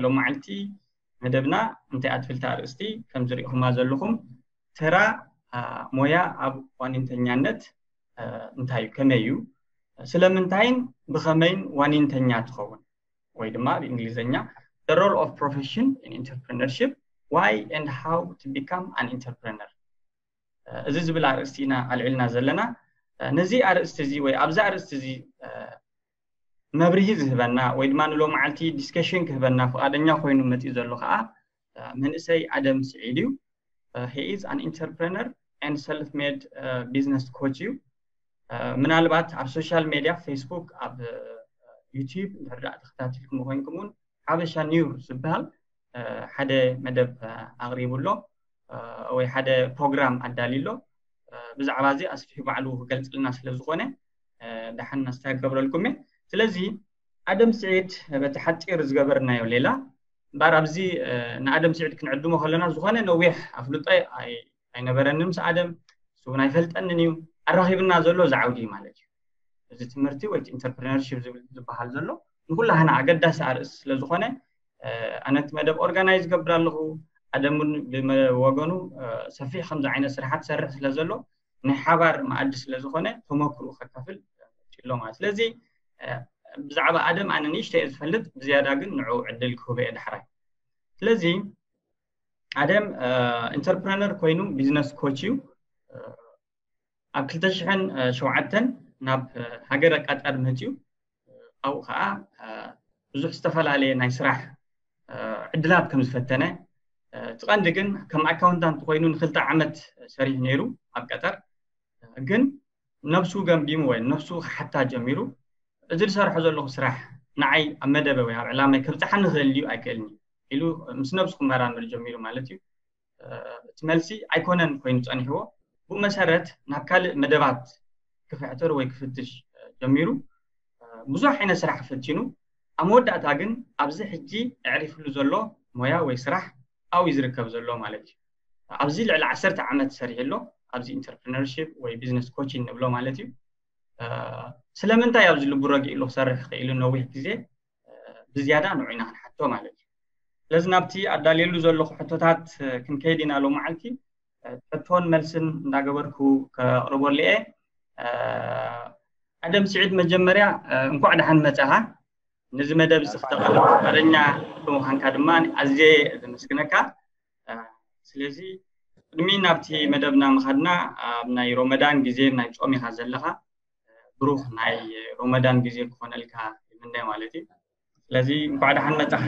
ሎም መዓልቲ መደብና እንታይ ኣትፍልቲ ኣርእስቲ ከም ዝሪእኹማ ዘለኹም፣ ተራ ሞያ ኣብ ዋኒንተኛነት እንታይ እዩ፣ ከመይ እዩ፣ ስለምንታይን ብኸመይን ዋኒንተኛ ትኸውን፣ ወይ ድማ ብእንግሊዝኛ the role of profession in entrepreneurship, why and how to become an entrepreneur። እዚ ዝብል ኣርእስቲ ኢና ኣልዒልና ዘለና። ነዚ ኣርእስቲ እዚ ወይ ኣብዚ ኣርእስቲ እዚ መብርሂ ዝህበና ወይ ድማ ንሎም መዓልቲ ዲስከሽን ክህበና ፍቓደኛ ኮይኑ መፂኡ ዘሎ ከዓ መንእሰይ ኣደም ስዒድ እዩ። He is an entrepreneur and self-made business coach እዩ። ምናልባት ኣብ ሶሻል ሜድያ፣ ፌስቡክ፣ ኣብ ዩቲዩብ እንድሕር ደኣ ተኸታቲልኩም ኮይንኩም እውን ሓበሻ ኒውስ ዝበሃል ሓደ መደብ ኣቕሪቡ ኣሎ፣ ወይ ሓደ ፕሮግራም ኣዳልዩ ኣሎ። ብዛዕባ እዚ ኣስፊሑ ባዕሉ ክገልፅልና ስለ ዝኾነ ደሓን ኣስታ ክገብረልኩም እየ። ስለዚ ኣደም ስዒድ በቲ ሓፂር ዝገበርናዮ ሌላ እምበኣር ኣብዚ ንኣደም ስዒድ ክንዕድሞ ከለና ዝኾነ ነዊሕ ኣፍልጦ ኣይነበረንን ምስ ኣደም፣ ንሱ እውን ኣይፈልጠንን እዩ። ኣራኺብና ዘሎ እዚ ዓውዲ እዩ ማለት እዩ። እዚ ትምህርቲ ወይ ኢንተርፕረነርሺፕ ዝበሃል ዘሎ ንኩላህና ኣገዳሲ ኣርእስቲ ስለ ዝኾነ ኣነ እቲ መደብ ኦርጋናይዝ ገብር ኣለኹ። ኣደም እውን ብወገኑ ሰፊሕ ከምዚ ዓይነት ስራሓት ሰርሕ ስለ ዘሎ ናይ ሓባር መኣዲ ስለ ዝኾነ ተመክርኡ ከካፍል ሎ ማለት። ስለዚ ብዛዕባ ኣደም ኣነ ንእሽተይ እየ ዝፈልጥ፣ ብዝያዳ ግን ንዑ ዕድል ክህበ እየ ዳሕራይ። ስለዚ ኣደም ኢንተርፕረነር ኮይኑ ቢዝነስ ኮች እዩ። ኣብ ክልተ ሽሕን ሸውዓተን ናብ ሃገረ ቀጠር መፅዩ። ኣብኡ ከዓ ብዙሕ ዝተፈላለየ ናይ ስራሕ ዕድላት ከም ዝፈተነ፣ እቲ ቀንዲ ግን ከም ኣካውንታንት ኮይኑ ንክልተ ዓመት ሰሪሑ ነይሩ ኣብ ቀጠር። ግን ነብሱ ገምጊሙ ወይ ነብሱ ክሓታ ጀሚሩ፣ እዚ ዝሰርሖ ዘለኹ ስራሕ ንዓይ ኣብ መደበ ወይ ኣብ ዕላማይ ከብፅሓኒ ክእል ድዩ ኣይክእልን ኢሉ ምስ ነብሱ ክመራመር ጀሚሩ ማለት እዩ። እቲ መልሲ ኣይኮነን ኮይኑ ፀኒሕዎ። ብኡ መሰረት ናብ ካልእ መደባት ክፍሕትር ወይ ክፍትሽ ጀሚሩ። ብዙሕ ዓይነት ስራሕ ፈቲኑ፣ ኣብ መወዳእታ ግን ኣብዚ ሕጂ ኣዕሪፍሉ ዘሎ ሞያ ወይ ስራሕ ኣብኡ እዩ ዝርከብ ዘሎ ማለት እዩ። ኣብዚ ልዕሊ ዓሰርተ ዓመት ሰሪሑ ኣሎ ኣብዚ ኢንተርፕረነርሺፕ ወይ ቢዝነስ ኮቺንግ ንብሎ ማለት እዩ። ስለምንታይ ኣብዚ ልቡ ረጊእሉ ክሰርሕ ክኢሉ ነዊሕ ግዜ ብዝያዳ ንዑ ኢና ክንሓቶ ማለት እዩ። ስለዚ ናብቲ ኣዳልየሉ ዘለኹ ሕቶታት ክንከይድ ኢና ሎም መዓልቲ። ሕቶን መልስን እንዳገበርኩ ከቕርበሉ እየ። ኣደም ስዒድ፣ መጀመርያ እንኳዕ ደሓን መጻኻ። ነዚ መደብ እዚ ክተቐርብ ፍቃደኛ ብምዃንካ ድማ ኣዝየ ዘመስግነካ። ስለዚ ቅድሚ ናብቲ መደብና ምኻድና ኣብ ናይ ሮመዳን ግዜ ናይ ጾም ኢኻ ዘለኻ። ብሩኽ ናይ ሮመዳን ግዜ ክኾነልካ ይምነ ማለት እዩ። ስለዚ እንኳዕ ደሓን መጻኻ።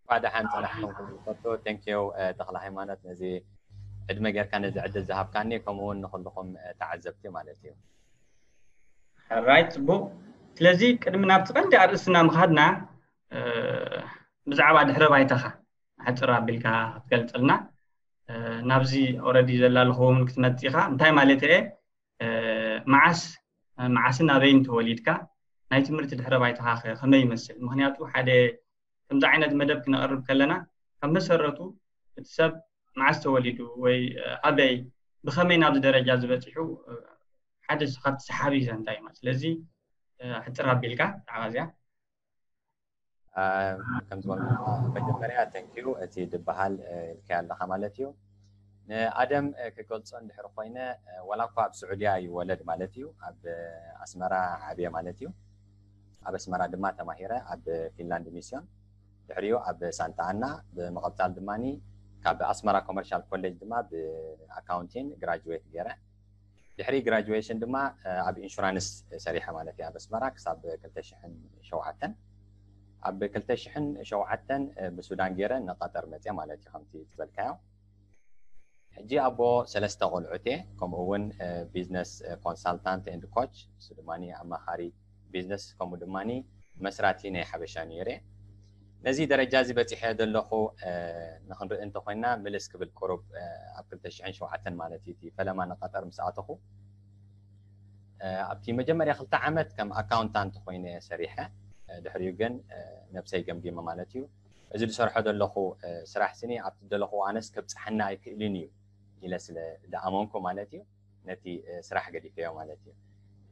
እንኳዕ ደሓን ጸናሕኩም ክብል ፈቱ። ቴንኪዩ ተኽለ ሃይማኖት፣ ነዚ ዕድመ ጌርካ ነዚ ዕድል ዝሃብካኒ፣ ከምኡ እውን ንኹልኹም ተዓዘብቲ ማለት እዩ። ራይት፣ ጽቡቕ። ስለዚ ቅድሚ ናብቲ ቀንዲ ኣርእስትና ምኻድና ብዛዕባ ድሕረ ባይታኻ ሓጽር ኣቢልካ ክትገልጸልና። ናብዚ ኦረዲ ዘላልኹ እውን ክትመጽእ ኢኻ። እንታይ ማለት እየ? መዓስ መዓስን ኣበይን ተወሊድካ? ናይ ትምህርቲ ድሕረ ባይታኻ ከ ከመይ ይመስል? ምኽንያቱ ሓደ ከምዚ ዓይነት መደብ ክነቕርብ ከለና ካብ መሰረቱ እቲ ሰብ መዓስ ተወሊዱ ወይ ኣበይ ብኸመይ ናብዚ ደረጃ ዝበፂሑ ሓደ ካብቲ ሰሓቢ ዘንታ እዩ። ስለዚ ሕፅር ኣቢልካ ብዛዕባ እዚኣ። ከም ዝበልኩ መጀመርያ ቴንኪዩ እቲ ድበሃል ኢልካዮ ኣለኻ ማለት እዩ። ንኣደም ክገልጾ እንድሕር ኮይነ ዋላ እኳ ኣብ ስዑድያ ይወለድ ማለት እዩ፣ ኣብ ኣስመራ ዓብየ ማለት እዩ። ኣብ ኣስመራ ድማ ተማሂረ ኣብ ፊንላንድ ሚስዮን፣ ድሕሪኡ ኣብ ሳንታ ኣና፣ ብምቕጻል ድማ ካብ ኣስመራ ኮመርሻል ኮሌጅ ድማ ብኣካውንቲን ግራጁዌት ገይረ። ድሕሪ ግራጁዌሽን ድማ ኣብ ኢንሹራንስ ሰሪሐ ማለት እዩ ኣብ ኣስመራ ክሳብ ክልተ ሽሕን ሸውዓተን። ኣብ ክልተ ሽሕን ሸውዓተን ብሱዳን ገይረ ንቐጠር መፅየ ማለት እዩ ከምቲ ዝበልካዮ። ሕጂ ኣቦ ሰለስተ ቆልዑት እየ፣ ከምኡ እውን ቢዝነስ ኮንሳልታንት ኤንድ ኮች፣ እሱ ድማ ኣማኻሪ ቢዝነስ፣ ከምኡ ድማ መስራቲ ናይ ሓበሻ ኒውየር እየ። ነዚ ደረጃ እዚ በፂሐ ዘለኹ ንክንርኢ እንተኮይና ምልስ ክብል ቁሩብ ኣብ ክልተ ሽሕን ሸውዓተን ማለት እዩ እቲ ፈለማ ንቀጠር ምስ ኣተኹ። ኣብቲ መጀመርያ ክልተ ዓመት ከም ኣካውንታንት ኮይነ ሰሪሐ፣ ድሕሪኡ ግን ነብሰይ ገምጊመ ማለት እዩ። እዚ ዝሰርሖ ዘለኹ ስራሕ ስኒ ኣብቲ ዘለኹ ኣነስ ከብፅሓና ኣይክእልን እዩ ኢለ ስለ ዝኣመንኩ ማለት እዩ ነቲ ስራሕ ገዲፈዮ ማለት እዩ።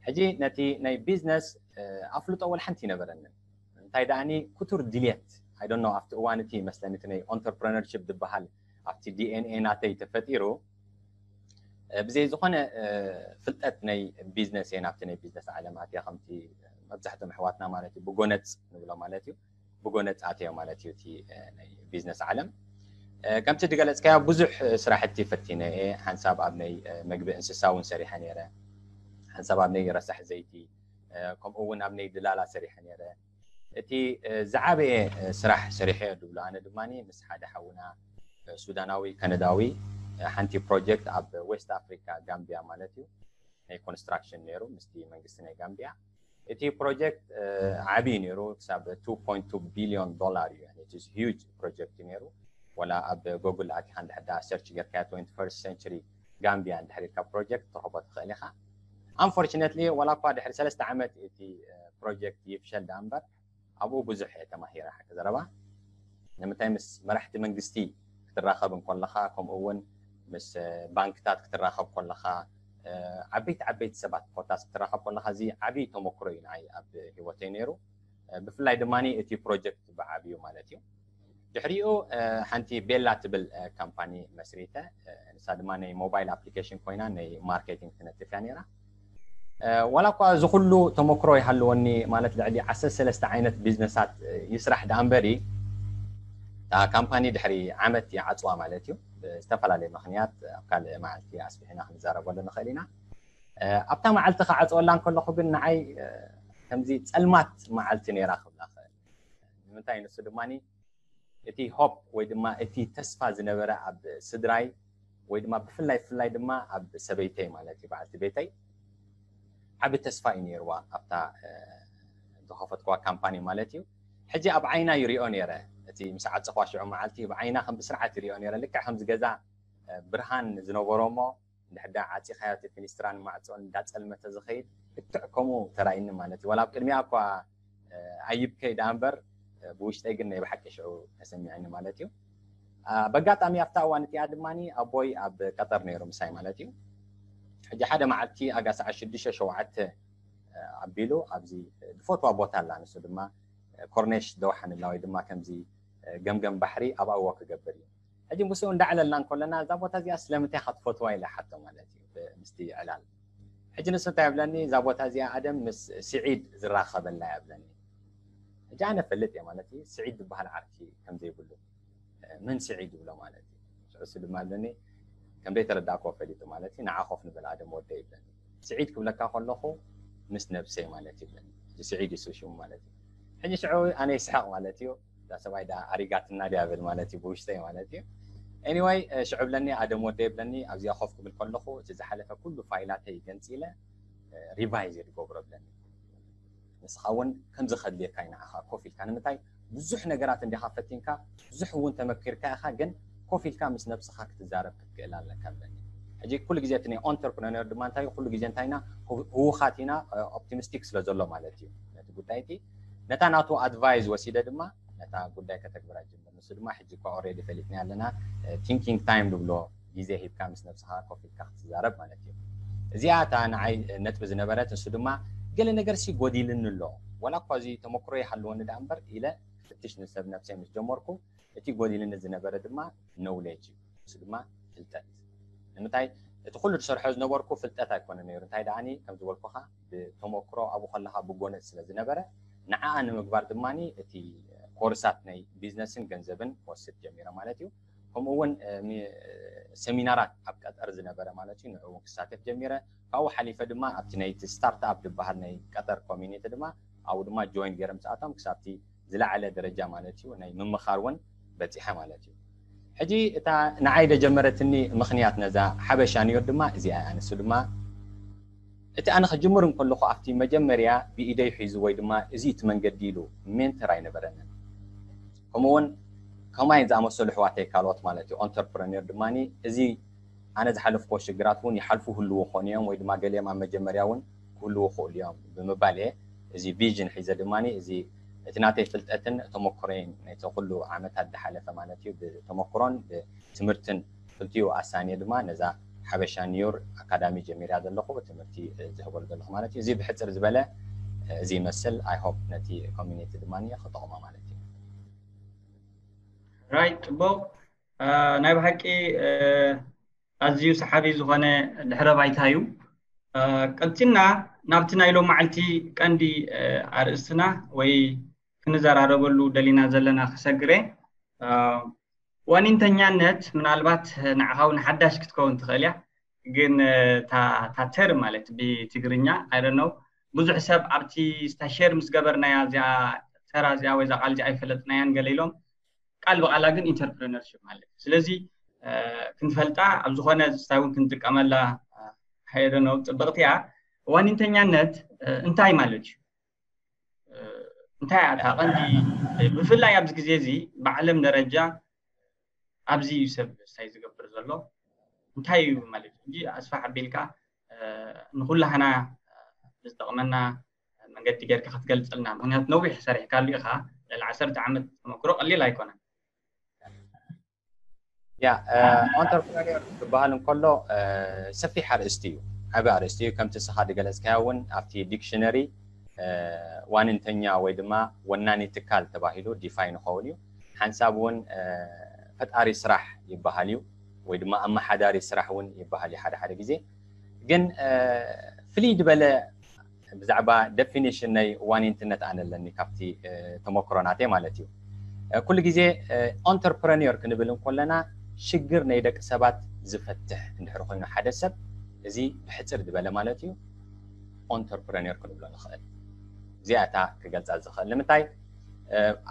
ሕጂ ነቲ ናይ ቢዝነስ ኣፍልጦ ወላ ሓንቲ ይነበረንን። እንታይ ደኣኒ ክቱር ድልየት I don't know ኣብቲ እዋን እቲ መስለኒ እቲ ናይ entrepreneurship ዝበሃል ኣብቲ D N A ናተይ ተፈጢሩ ብዘይ ዝኾነ ፍልጠት ናይ ቢዝነስ እየ ናብቲ ናይ ቢዝነስ ዓለም ኣትየ ከምቲ መብዛሕትኦም ኣሕዋትና ማለት እዩ ብጎነፅ ንብሎ ማለት እዩ ብጎነፅ ኣትየ ማለት እዩ እቲ ናይ ቢዝነስ ዓለም ከምቲ ዝገለፅካዮ ብዙሕ ስራሕቲ ፈቲነ እየ ሓንሳብ ኣብ ናይ መግቢ እንስሳ እውን ሰሪሐ ነይረ ሓንሳብ ኣብ ናይ ረሳሕ ዘይቲ ከምኡ እውን ኣብ ናይ ድላላ ሰሪሐ ነይረ እቲ ዝዓበየ ስራሕ ሰሪሐ ዝብሎ ኣነ ድማ ምስ ሓደ ሓውና ሱዳናዊ ከነዳዊ ሓንቲ ፕሮጀክት ኣብ ዌስት ኣፍሪካ ጋምቢያ ማለት እዩ ናይ ኮንስትራክሽን ነይሩ ምስቲ መንግስቲ ናይ ጋምቢያ እቲ ፕሮጀክት ዓብዪ ነይሩ ክሳብ two point two billion dollar እዩ huge ፕሮጀክት እዩ ነይሩ ወላ ኣብ ጎግል ኣቲኻ እንድሕዳ search ጌርካያ twenty first century ጋምቢያ እንድሕር ኢልካ ፕሮጀክት ትረኽቦ ትኽእል ኢኻ unfortunately ወላ እኳ ድሕሪ ሰለስተ ዓመት እቲ ፕሮጀክት ይፍሸል ዳ እምበር ኣብኡ ብዙሕ እየ ተማሂረ ሓቂ ዘረባ ንምንታይ ምስ መራሕቲ መንግስቲ ክትራኸብ እንኮለኻ ከምኡ እውን ምስ ባንክታት ክትራኸብ ከለኻ ዓበይቲ ዓበይቲ ሰባት ኮታስ ክትራኸብ ከለኻ እዚ ዓብዪ ተመክሮ እዩ ንዓይ ኣብ ህይወተይ ነይሩ ብፍላይ ድማ እቲ ፕሮጀክት ብዓብዩ ማለት እዩ ድሕሪኡ ሓንቲ ቤላ ትብል ካምፓኒ መስሪተ ንሳ ድማ ናይ ሞባይል ኣፕሊኬሽን ኮይና ናይ ማርኬቲንግ ትነጥፍ እያ ነይራ ዋላ እኳ እዚ ኩሉ ተመክሮ ይሃልወኒ ማለት ልዕሊ ዓሰርተ ሰለስተ ዓይነት ቢዝነሳት ይስራሕ ደኣ እምበሪ እታ ካምፓኒ ድሕሪ ዓመት ይዓፅዋ ማለት እዩ ብዝተፈላለየ ምክንያት ኣብ ካልእ መዓልቲ ኣስፊሕና ክንዛረበሉ ንኽእል ኢና ኣብታ መዓልቲ ክዓፅወላ እንከለኹ ግን ንዓይ ከምዚ ፀልማት መዓልቲ ነይራ ክብላ ክእል ንምንታይ ንሱ ድማ እቲ ሆፕ ወይ ድማ እቲ ተስፋ ዝነበረ ኣብ ስድራይ ወይ ድማ ብፍላይ ብፍላይ ድማ ኣብ ሰበይተይ ማለት እዩ በዓልቲ ቤተይ ዓቢ ተስፋ እዩ ነይርዋ ኣብታ ዝኸፈትክዋ ካምፓኒ ማለት እዩ ሕጂ ኣብ ዓይና ይሪኦ ነይረ እቲ ምስ ዓፀኽዋ ሽዑ መዓልቲ ብዓይና ከም ብስርዓት ይሪኦ ነይረ ልክዕ ከምዚ ገዛ ብርሃን ዝነበሮ እሞ እንድሕዳ ዓፂኻዮ እቲ ፊኒስትራን ማዕፆን እንዳፀልመተ ዝኸይድ ልክዕ ከምኡ ተራእይኒ ማለት እዩ ዋላ ኣብ ቅድሚያ እኳ ኣይብከይ ደኣ እምበር ብውሽጠይ ግን ናይ ብሓቂ ሽዑ ተሰሚዕኒ ማለት እዩ በጋጣሚ ኣብታ እዋን እቲኣ ድማ ኣቦይ ኣብ ቀጠር ነይሩ ምሳይ ማለት እዩ ሕጂ ሓደ መዓልቲ ኣጋ ሰዓት ሽዱሽተ ሸውዓተ ኣቢሉ ኣብዚ ዝፈትዋ ቦታ ኣላ ንሱ ድማ ኮርኔሽ ደውሓንላ ወይ ድማ ከምዚ ገምገም ባሕሪ ኣብ ኣዎ ክገብር እዩ ሕጂ ምስኡ እንዳዕለልና እንከለና እዛ ቦታ እዚኣ ስለምንታይ ኢኻ ትፈትዋ ኢለ ሓቶ ማለት እዩ ምስቲ ዕላል ሕጂ ንሱ እንታይ ይብለኒ እዛ ቦታ እዚኣ ኣደም ምስ ስዒድ ዝራኸበላ እያ ብለኒ ሕጂ ኣነ ፈልጥ እየ ማለት እዩ ስዒድ ዝበሃል ዓርኪ ከም ዘይብሉ መን ስዒድ ይብሎ ማለት እዩ ንሱ ድማ ይብለኒ ከም ዘይተረዳእክዎ ፈሊጡ ማለት እዩ ንዓ ኮፍ ንበል ኣደም ወደ ይብለኒ ስዒድ ክብለካ ከለኹ ምስ ነብሰይ ማለት ይብለኒ ስዒድ ይሱ ሽሙ ማለት እዩ ሕጂ ሽዑ ኣነ ይስሐቕ ማለት እዩ እዛ ሰብኣይ ዳ ኣሪጋትና ድያ ብል ማለት እዩ ብውሽጠይ ማለት እዩ anyway ሽዑ ብለኒ ኣደም ወደ ይብለኒ ኣብዚኣ ኮፍ ክብል ከለኹ እቲ ዝሓለፈ ኩሉ ፋይላተይ ገንፂለ ሪቫይዝ እየ ዝገብሮ ብለኒ ንስኻ እውን ከምዚ ከድልየካ እዩ ንዓኻ ኮፍ ኢልካ ንምንታይ ብዙሕ ነገራት እንዲኻ ፈቲንካ ብዙሕ እውን ተመኪርካ ኢኻ ግን ኮፍ ኢልካ ምስ ነብስኻ ክትዛረብ ክትክእል ኣለካ ብለኒ ሕጂ ኩሉ ግዜ እቲ ናይ ኦንተርፕረነር ድማ እንታይ ኩሉ ግዜ እንታይና ህውኻት ኢና ኦፕቲሚስቲክ ስለ ዘሎ ማለት እዩ ነቲ ጉዳይ እቲ ነታ ናቱ ኣድቫይዝ ወሲደ ድማ ነታ ጉዳይ ከተግብራ ጅምር ንሱ ድማ ሕጂ እኳ ኦሬዲ ፈሊጥና ኣለና ቲንኪንግ ታይም ዝብሎ ግዜ ሂብካ ምስ ነብስኻ ኮፍ ኢልካ ክትዛረብ ማለት እዩ እዚኣ እታ ንዓይ ነጥቢ ዝነበረት ንሱ ድማ ገለ ነገር ሲ ጎዲልኒ ኣሎ ወላ እኳ እዚ ተመክሮ ይሃልወኒ ዳ እምበር ኢለ ፍትሽ ንሰብ ነብሰይ ምስ ጀመርኩ እቲ ጎዲልኒ ዝነበረ ድማ ኖውሌጅ እዩ ንሱ ድማ ፍልጠት ንምንታይ እቲ ኩሉ ዝሰርሖ ዝነበርኩ ፍልጠት ኣይኮነ ነይሩ እንታይ ደኣኒ ከም ዝበልኩኻ ብተመክሮ ኣብኡ ከለኻ ብጎነፅ ስለ ዝነበረ ንዓኣ ንምግባር ድማ እቲ ኮርሳት ናይ ቢዝነስን ገንዘብን ክወስድ ጀሚረ ማለት እዩ ከምኡ እውን ሰሚናራት ኣብ ቀጠር ዝነበረ ማለት እዩ ንዕኡ ክሳተፍ ጀሚረ ካብኡ ሓሊፈ ድማ ኣብቲ ናይቲ ስታርትኣፕ ዝበሃል ናይ ቀጠር ኮሚኒቲ ድማ ኣብኡ ድማ ጆይን ገይረ ምስኣቶም ክሳብቲ ዝለዓለ ደረጃ ማለት እዩ ናይ ምምኻር እውን በፂሐ ማለት እዩ ሕጂ እታ ንዓይ ደጀመረትኒ ምኽንያት ነዛ ሓበሻ ኒዮር ድማ እዚኣ እያ ንሱ ድማ እቲ ኣነ ክጅምር እንከለኹ ኣብቲ መጀመርያ ብኢደይ ሒዙ ወይ ድማ እዚ እቲ መንገዲ ኢሉ ሜንተር ኣይነበረንን ከምኡውን ከማይ ዝኣመሰሉ ኣሕዋተይ ካልኦት ማለት እዩ ኦንተርፕረነር ድማ እዚ ኣነ ዝሓለፍኮ ሽግራት እውን ይሓልፉ ህልዉ ኾኑ እዮም ወይ ድማ ገሊኦም ኣብ መጀመርያ እውን ክህልዉ ክእሉ እዮም ብምባል እየ እዚ ቪዥን ሒዘ ድማ እዚ እቲ ናተይ ፍልጠትን ተመክሮይን ናይቲ ኩሉ ዓመታት ዝሓለፈ ማለት እዩ ብተመክሮን ብትምህርትን ክልቲኡ ኣሳንየ ድማ ነዛ ሓበሻ ኒውር ኣካዳሚ ጀሚርያ ዘለኹ ትምህርቲ ዝህበሉ ዘለኹ ማለት እዩ እዚ ብሕፅር ዝበለ እዚ ይመስል I hope ነቲ ኮሚኒቲ ድማ ክጠቕሞ ማለት እዩ ራይት፣ ጽቡቕ። ናይ ብሓቂ ኣዝዩ ሰሓቢ ዝኾነ ድሕረ ባይታ እዩ። ቀጺልና ናብቲ ናይ ሎማዓልቲ ቀንዲ ኣርእስትና ወይ ክንዘራረበሉ ደሊና ዘለና ክሰግረ። ዋኒንተኛነት ምናልባት ንዓኻ እውን ሓዳሽ ክትከውን ትኽእል እያ፣ ግን እታ ተር ማለት ብትግርኛ ኣይደነው ብዙሕ ሰብ ኣብቲ ስታሸር ምስ ገበርናያ እዚኣ ተራ እዚኣ ወይ እዛ ቃል እዚኣ ኣይፈለጥናያን ገለ ኢሎም ቃል ብቓላ ግን ኢንተርፕረነርሽፕ ማለት እዩ። ስለዚ ክንፈልጣ ኣብ ዝኾነ ስታይ እውን ክንጥቀመላ ሃይደነው ጽብቕቲ እያ። ዋኒንተኛነት እንታይ ማለት እዩ? እንታይ እያ እታ ቀንዲ? ብፍላይ ኣብዚ ግዜ እዚ ብዓለም ደረጃ ኣብዚ እዩ ሰብ ስታይ ዝገብር ዘሎ። እንታይ እዩ ማለት እዩ? እንጂ ኣስፋሕ ኣቢልካ ንኩላህና ዝጠቕመና መንገዲ ጌርካ ክትገልጽልና፣ ምክንያቱ ነዊሕ ሰሪሕካሉ ኢኻ። ልዕሊ ዓሰርተ ዓመት ተመክሮ ቀሊል ኣይኮነን። ያ፣ ኦንተርፕረነር ክበሃል እንከሎ ሰፊሕ ኣርእስቲ እዩ፣ ዓቢ ኣርእስቲ እዩ። ከምቲ ንስኻ ዝገለጽካዮ እውን ኣብቲ ዲክሽነሪ ዋንንተኛ ወይ ድማ ወናኒ ትካል ተባሂሉ ዲፋይን ይኸውን እዩ። ሓንሳብ እውን ፈጣሪ ስራሕ ይበሃል እዩ፣ ወይ ድማ ኣመሓዳሪ ስራሕ እውን ይበሃል እዩ ሓደ ሓደ ግዜ። ግን ፍልይ ዝበለ ብዛዕባ ደፊኒሽን ናይ ዋኒንትነት ኣነ ኣለኒ ካብቲ ተመክሮ ናተይ ማለት እዩ። ኩሉ ግዜ ኦንተርፕረኒር ክንብል እንከለና ሽግር ናይ ደቂ ሰባት ዝፈትሕ እንድሕር ኮይኑ ሓደ ሰብ፣ እዚ ብሕፅር ዝበለ ማለት እዩ፣ ኦንተርፕረኒር ክንብሎ ንኽእል። እዚኣታ ክገልፃ ዝኽእል ንምንታይ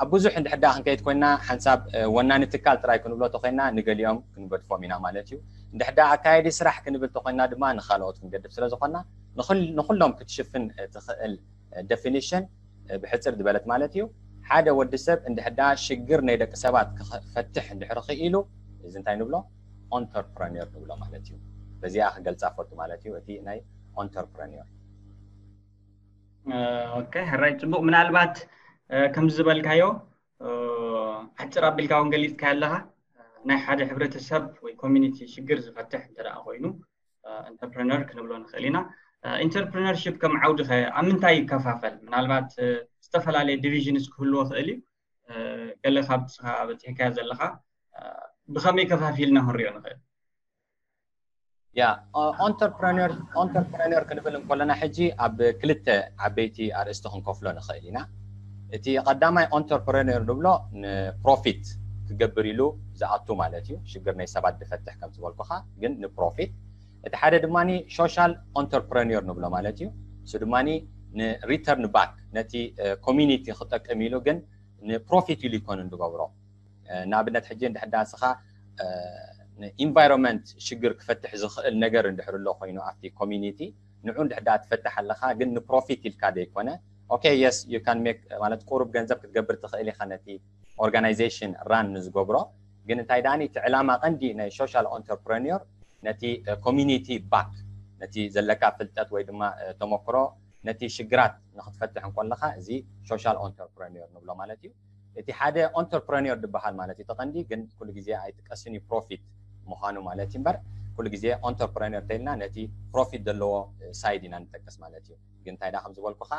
ኣብ ብዙሕ እንድሕር ደኣ ክንከይድ ኮይና ሓንሳብ ወናኒ ትካል ጥራይ ክንብሎ ተኮይና ንገሊኦም ክንገድፎም ኢና ማለት እዩ። እንድሕር ደኣ ኣካየዲ ስራሕ ክንብል ተኮይና ድማ ንካልኦት ክንገድፍ ስለ ዝኾና ንኹሎም ክትሽፍን ትኽእል ደፊኒሽን ብሕፅር ዝበለት ማለት እዩ። ሓደ ወዲ ሰብ እንድሕር ደኣ ሽግር ናይ ደቂ ሰባት ክፈትሕ እንድሕር ክኢሉ እዚ እንታይ ንብሎ? ኦንተርፕረኒር ንብሎ ማለት እዩ። በዚኣ ክገልፃ ፈቱ ማለት እዩ እቲ ናይ ኦንተርፕረኒር። ኦኬ፣ ሕራይ ጽቡቕ። ምናልባት ከምዚ ዝበልካዮ ኣሕፅር ኣቢልካ እውን ገሊፅካዮ ኣለኻ። ናይ ሓደ ሕብረተሰብ ወይ ኮሚኒቲ ሽግር ዝፈትሕ እንተ ደኣ ኮይኑ ኢንተርፕረነር ክንብሎ ንኽእል ኢና። ኢንተርፕረነርሽፕ ከም ዓውዲ ኸ ኣብ ምንታይ ይከፋፈል? ምናልባት ዝተፈላለየ ዲቪዥንስ ክህልዎ ይኽእል እዩ። ገለ ካብቲ ንስኻ በፂሕካዮ ዘለኻ ብኸመይ ከፋፊልና ክንሪኦ ንኽእል? ያ፣ ኦንተርፕረነር ኦንተርፕረነር ክንብል እንከለና ሕጂ ኣብ ክልተ ዓበይቲ ኣርእስቲ ክንከፍሎ ንኽእል ኢና። እቲ ቀዳማይ ኦንተርፕረነር ንብሎ ንፕሮፊት ክገብር ኢሉ ዝኣቱ ማለት እዩ። ሽግር ናይ ሰባት ዝፈትሕ ከም ዝበልኩኻ፣ ግን ንፕሮፊት። እቲ ሓደ ድማ ሶሻል ኦንተርፕረነር ንብሎ ማለት እዩ። እሱ ድማ ንሪተርን ባክ ነቲ ኮሚኒቲ ክጠቅም ኢሉ ግን ንፕሮፊት ኢሉ ይኮን ዝገብሮ። ንኣብነት ሕጂ እንድሕር ደኣ ንስኻ ንኢንቫይሮንመንት ሽግር ክፈትሕ ዝኽእል ነገር እንድሕር ኣሎ ኮይኑ ኣብቲ ኮሚኒቲ ንዑ እንድሕር ደኣ ትፈትሕ ኣለኻ፣ ግን ንፕሮፊት ኢልካ ዘይኮነ፣ ኦኬ፣ የስ፣ ዩ ካን ሜክ ማለት ቁሩብ ገንዘብ ክትገብር ትኽእል ኢኻ ነቲ ኦርጋናይዜሽን ራን ንዝገብሮ። ግን እንታይ ደኣኒ እቲ ዕላማ ቀንዲ ናይ ሶሻል ኦንተርፕረኒር ነቲ ኮሚኒቲ ባክ ነቲ ዘለካ ፍልጠት ወይ ድማ ተመክሮ ነቲ ሽግራት ንክትፈትሕ እንኮለካ እዚ ሶሻል ኦንተርፕረኒር ንብሎ ማለት እዩ። እቲ ሓደ ኦንተርፕረኒር ዝበሃል ማለት እዩ ተቐንዲ ግን ኩሉ ግዜ ኣይጥቀስን እዩ ፕሮፊት ምዃኑ ማለት እዩ እምበር ኩሉ ግዜ ኦንተርፕረኒር ተይልና ነቲ ፕሮፊት ዘለዎ ሳይድ ኢና ንጠቅስ ማለት እዩ። ግን እንታይ ዳ ከም ዝበልኩኻ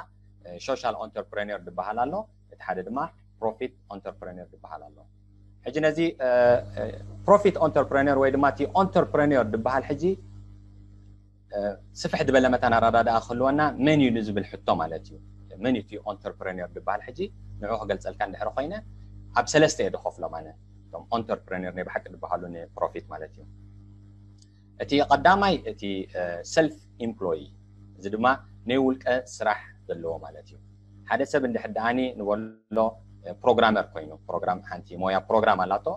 ሶሻል ኦንተርፕረኒር ዝበሃል ኣሎ፣ እቲ ሓደ ድማ ፕሮፊት ኦንተርፕረኒር ዝበሃል ኣሎ። ሕጂ ነዚ ፕሮፊት ኦንተርፕረኒር ወይ ድማ እቲ ኦንተርፕረኒር ዝበሃል ሕጂ ስፍሕ ዝበለ መታን ኣረዳድኣ ክህልወና መን እዩ ንዝብል ሕቶ ማለት እዩ። መን እዩ እቲ ኦንተርፕረኒር ዝበሃል ሕጂ ንዑ ክገልፀልካ እንድሕር ኮይነ ኣብ ሰለስተ እየ ዝኸፍሎም ኣነ። እቶም ኦንተርፕረኒር ናይ ብሓቂ ዝበሃሉ ንፕሮፊት ማለት እዩ። እቲ ቀዳማይ እቲ ሰልፍ ኢምፕሎይ፣ እዚ ድማ ናይ ውልቀ ስራሕ ዘለዎ ማለት እዩ። ሓደ ሰብ እንድሕር ደኣኒ ንበሎ ፕሮግራመር ኮይኑ ፕሮግራም ሓንቲ ሞያ ፕሮግራም ኣላቶ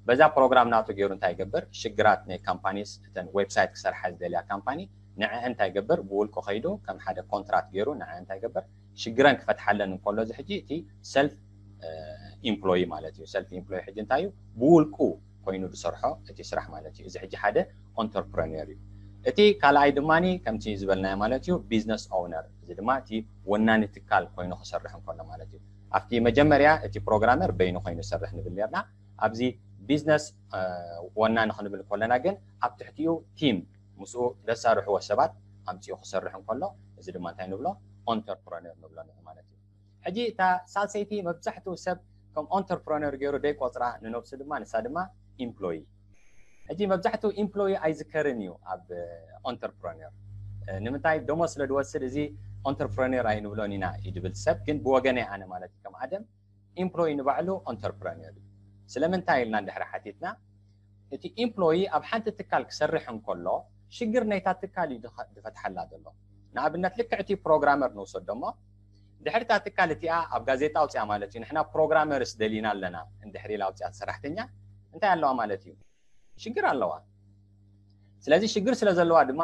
በዛ ፕሮግራም ናቱ ገይሩ እንታይ ይገብር? ሽግራት ናይ ካምፓኒስ እተን ዌብሳይት ክሰርሓ ዝደልያ ካምፓኒ ንዐ እንታይ ይገብር? ብውልቁ ከይዱ ከም ሓደ ኮንትራት ገይሩ ንዐ እንታይ ይገብር? ሽግረን ክፈትሓለን እንከሎ እዚ ሕጂ እቲ ሰልፍ ኢምፕሎይ ማለት እዩ። ሰልፍ ኢምፕሎይ ሕጂ እንታይ እዩ? ብውልቁ ኮይኑ ዝሰርሖ እቲ ስራሕ ማለት እዩ። እዚ ሕጂ ሓደ ኦንተርፕረነር እዩ። እቲ ካልኣይ ድማ ከምቲ ዝበልናዮ ማለት እዩ ቢዝነስ ኦውነር፣ እዚ ድማ እቲ ወናኒ ትካል ኮይኑ ክሰርሕ እንከሎ ማለት እዩ። ኣብቲ መጀመርያ እቲ ፕሮግራመር በይኑ ኮይኑ ይሰርሕ ንብል ነርና። ኣብዚ ቢዝነስ ወናኒ ክንብል ከለና ግን ኣብ ትሕቲኡ ቲም ምስኡ ዘሳርሕዎ ሰባት ኣምፂኡ ክሰርሕ እንከሎ እዚ ድማ እንታይ ንብሎ? ኦንተርፕረነር ንብሎ ንዑ ማለት እዩ። ሕጂ እታ ሳልሰይቲ መብዛሕትኡ ሰብ ከም entrepreneur ገይሩ ደይ ቆፅራ ንነብሱ ድማ ንሳ ድማ employee። ሕጂ መብዛሕትኡ employee ኣይዝከርን እዩ ኣብ entrepreneur። ንምንታይ ደሞዝ ስለ ዝወስድ እዚ entrepreneur ኣይንብሎን ኢና እዩ ዝብል ሰብ፣ ግን ብወገነይ ኣነ ማለት እዩ ከም ኣደም employee ንባዕሉ entrepreneur እዩ። ስለምንታይ ኢልና እንድሕሪ ሓቲትና እቲ employee ኣብ ሓንቲ ትካል ክሰርሕ እንከሎ ሽግር ናይታ ትካል እዩ ዝፈትሓላ ዘሎ። ንኣብነት ልክዕ እቲ programmer ንውሰዶ እሞ ድሕሪ እታ ትካል እቲኣ ኣብ ጋዜጣ ኣውፅያ ማለት እዩ፣ ንሕና programmers ደሊና ኣለና እንድሕሪ ኢላ ኣውፅያ ሰራሕተኛ እንታይ ኣለዋ ማለት እዩ? ሽግር ኣለዋ። ስለዚ ሽግር ስለ ዘለዋ ድማ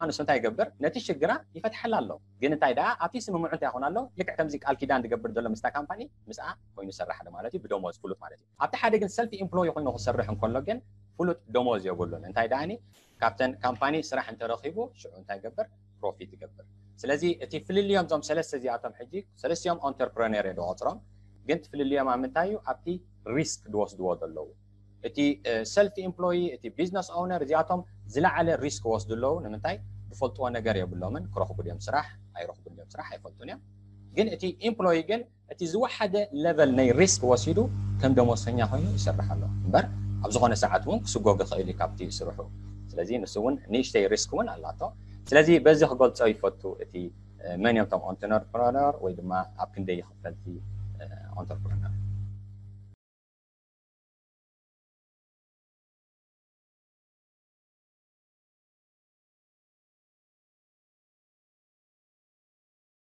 ንሱ እንታይ ይገብር? ነቲ ሽግራ ይፈትሓላ ኣሎ። ግን እንታይ ደኣ ኣብቲ ስምምዑ እንታይ ይኾን ኣሎ? ልክዕ ከምዚ ቃል ኪዳን ዝገብር ዘሎ ምስታ ካምፓኒ ምስኣ ኮይኑ ይሰርሕ ኣሎ ማለት እዩ፣ ብደሞዝ ፍሉጥ ማለት እዩ። ኣብቲ ሓደ ግን self employee ኮይኑ ክሰርሕ እንከሎ ግን ፍሉጥ ደሞዝ የብሉን። እንታይ ደኣኒ ካብተን ካምፓኒ ስራሕ እንተረኺቡ ሽዑ እንታይ ይገብር? Profit ይገብር። ስለዚ እቲ ፍልልዮም እዞም ሰለስተ እዚኣቶም ሕጂ ሰለስቲኦም entrepreneur እየ ዝቆፅሮም፣ ግን እቲ ፍልልዮም ኣብ ምንታይ እዩ? ኣብቲ risk ዝወስድዎ ዘለዉ። እቲ self employee፣ እቲ business owner እዚኣቶም ዝለዓለ risk ይወስዱ ኣለዉ። ንምንታይ? ዝፈልጥዎ ነገር የብሎምን። ክረኽቡ ድዮም ስራሕ? ኣይረኽቡን ድዮም ስራሕ? ኣይፈልጡን እዮም። ግን እቲ employee ግን እቲ ዝወሓደ level ናይ risk ወሲዱ ከም ደሞዝተኛ ኮይኑ ይሰርሕ ኣሎ እምበር ኣብ ዝኾነ ሰዓት እውን ክስጎግ ይኽእል እዩ ካብቲ ስርሑ። ስለዚ ንሱ እውን ንእሽተይ risk እውን ኣላቶ። ስለዚ በዚ ክገልጾ ይፈቱ እቲ መን እዮም እቶም entrepreneur ወይ ድማ ኣብ ክንደይ ይኽፈልቲ entrepreneur።